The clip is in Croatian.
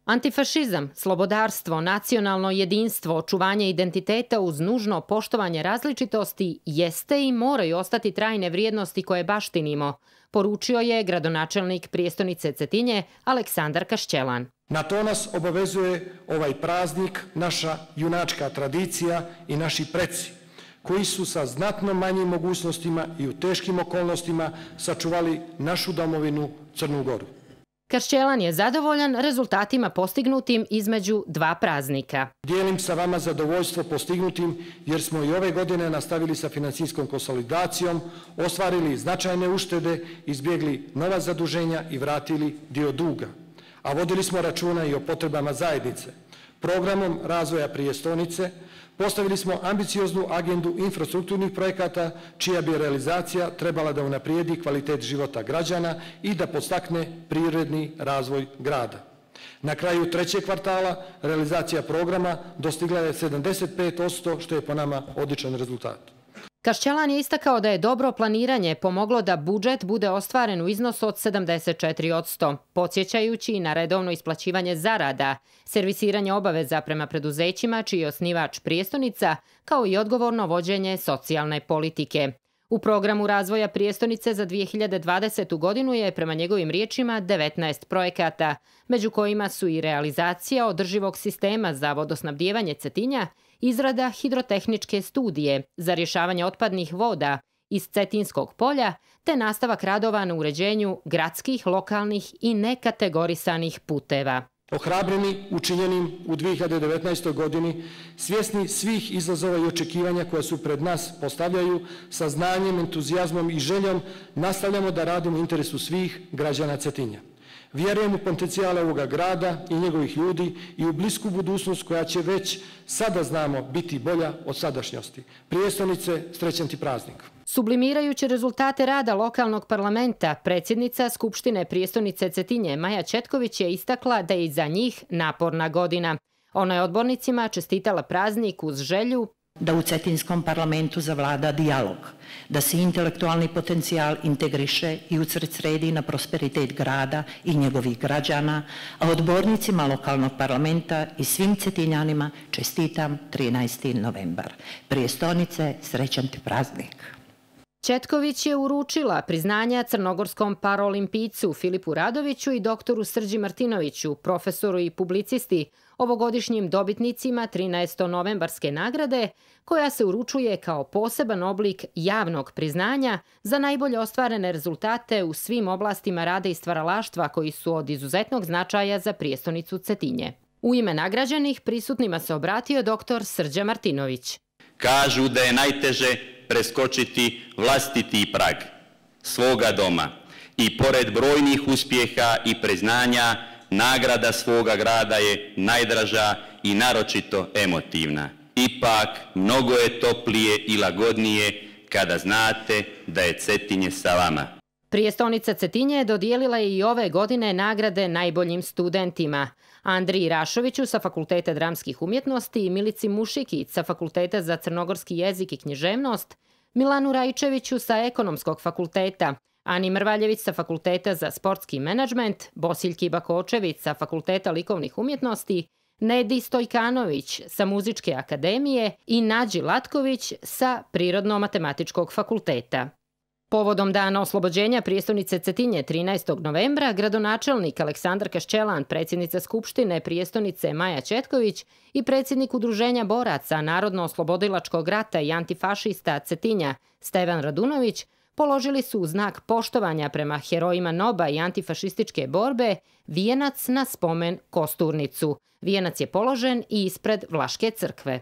Antifašizam, slobodarstvo, nacionalno jedinstvo, očuvanje identiteta uz nužno poštovanje različitosti jeste i moraju ostati trajne vrijednosti koje baštinimo, poručio je gradonačelnik prijestonice Cetinje Aleksandar Kašćelan. Na to nas obavezuje ovaj praznik, naša junačka tradicija i naši preci, koji su sa znatno manjim mogućnostima i u teškim okolnostima sačuvali našu domovinu Crnu Goru. Kašćelan je zadovoljan rezultatima postignutim između dva praznika. Dijelim sa vama zadovoljstvo postignutim jer smo i ove godine nastavili sa financijskom konsolidacijom, ostvarili značajne uštede, izbjegli nova zaduženja i vratili dio duga. A vodili smo računa i o potrebama zajednice. Programom razvoja prijestonice postavili smo ambicioznu agendu infrastrukturnih projekata čija bi realizacija trebala da unaprijedi kvalitet života građana i da podstakne privredni razvoj grada. Na kraju trećeg kvartala realizacija programa dostigla je 75%, što je po nama odličan rezultat. Kašćelan je istakao da je dobro planiranje pomoglo da budžet bude ostvaren u iznosu od 74%, podsjećajući na redovno isplaćivanje zarada, servisiranje obaveza prema preduzećima čiji je osnivač prijestonica, kao i odgovorno vođenje socijalne politike. U programu razvoja prijestonice za 2020. godinu je, prema njegovim riječima, 19 projekata, među kojima su i realizacija održivog sistema za vodosnabdijevanje Cetinja, izrada hidrotehničke studije za rješavanje otpadnih voda iz Cetinskog polja, te nastavak radova na uređenju gradskih, lokalnih i nekategorisanih puteva. Ohrabreni učinjenim u 2019. godini, svjesni svih izazova i očekivanja koja su pred nas postavljaju, sa znanjem, entuzijazmom i željom nastavljamo da radimo u interesu svih građana Cetinja. Vjerujem u potencijale ovoga grada i njegovih ljudi i u blisku budućnost koja će već sada znamo biti bolja od sadašnjosti. Prijestonice, srećan ti praznik. Sublimirajući rezultate rada lokalnog parlamenta, predsjednica Skupštine prijestonice Cetinje Maja Četković je istakla da je iza njih naporna godina. Ona je odbornicima čestitala praznik uz želju da u Cetinskom parlamentu zavlada dijalog, da se intelektualni potencijal integriše i usredsredi na prosperitet grada i njegovih građana, a odbornicima lokalnog parlamenta i svim Cetinjanima čestitam 13. novembar. Prijestonice, srećan ti praznik. Četković je uručila priznanja crnogorskom paraolimpijcu Filipu Radoviću i doktoru Srđi Martinoviću, profesoru i publicisti, ovogodišnjim dobitnicima 13. novembarske nagrade, koja se uručuje kao poseban oblik javnog priznanja za najbolje ostvarene rezultate u svim oblastima rada i stvaralaštva koji su od izuzetnog značaja za prijestonicu Cetinje. U ime nagrađenih prisutnima se obratio doktor Srđa Martinović. Kažu da je najteže preskočiti vlastiti prag svoga doma i pored brojnih uspjeha i priznanja, nagrada svoga grada je najdraža i naročito emotivna. Ipak, mnogo je toplije i lagodnije kada znate da je Cetinje sa vama. Prijestonica Cetinje dodijelila je i ove godine nagrade najboljim studentima. Andriji Rašoviću sa Fakulteta dramskih umjetnosti i Milici Mušikić sa Fakulteta za crnogorski jezik i književnost, Milanu Rajčeviću sa Ekonomskog fakulteta, Ani Mrvaljević sa Fakulteta za sportski menadžment, Bosiljki Bakočević sa Fakulteta likovnih umjetnosti, Nedi Stojkanović sa Muzičke akademije i Nađi Latković sa Prirodno-matematičkog fakulteta. Povodom dana oslobođenja prijestonice Cetinje 13. novembra, gradonačelnik Aleksandar Kašćelan, predsjednica Skupštine prijestonice Maja Četković i predsjednik Udruženja boraca Narodno-oslobodilačkog rata i antifašista Cetinja Stevan Radunović položili su u znak poštovanja prema herojima NOB-a i antifašističke borbe vijenac na spomen Kosturnicu. Vijenac je položen i ispred Vlaške crkve.